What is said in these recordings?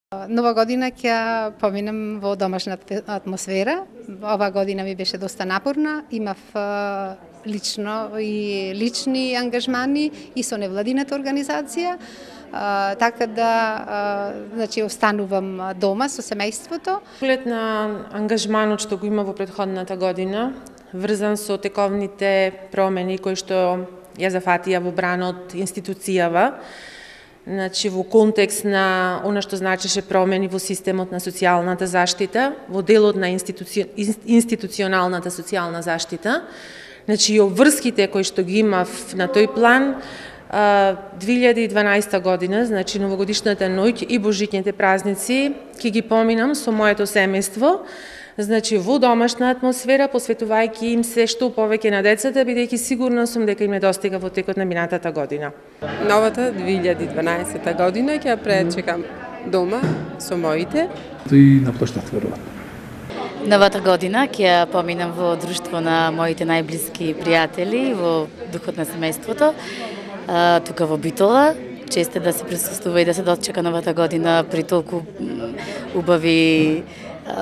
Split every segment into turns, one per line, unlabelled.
Нова година ќе поминам во домашна атмосфера. Ова година ми беше доста напорна. Имав лични ангажмани и со невладината организација. Така да, значи, останувам дома со семејството.
Поглед на ангажманот што го има во претходната година, врзан со тековните промени кои што ја зафатија во бранот институцијава, значи во контекст на она што значеше промени во системот на социјалната заштита, во делот на институционалната социјална заштита, значи и обврските кои што ги имав на тој план, 2012 година, значи новогодишната ноќ и божичните празници, ќе ги поминам со моето семејство, значи во домашна атмосфера, посветувајќи им се што повеќе на децата, бидејќи сигурна сум дека им недостига во текот на минатата година.
Новата 2012 година ќе ја пречекам дома со моите.
И на площад верувам.
Новата година ќе ја поминам во друштво на моите најблиски пријатели, во духот на семејството, тука во Битола. Често да се присуствува и да се дочека новата година при толку убави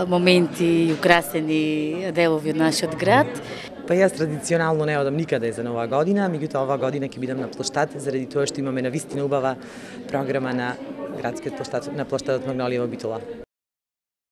моменти и украсени делови од нашиот град.
Па јас традиционално не одам никаде за нова година, меѓутоа оваа година ќе бидам на площад заради тоа што имаме навистина убава програма на градскиот площад, на площадот Магнолија во Битола.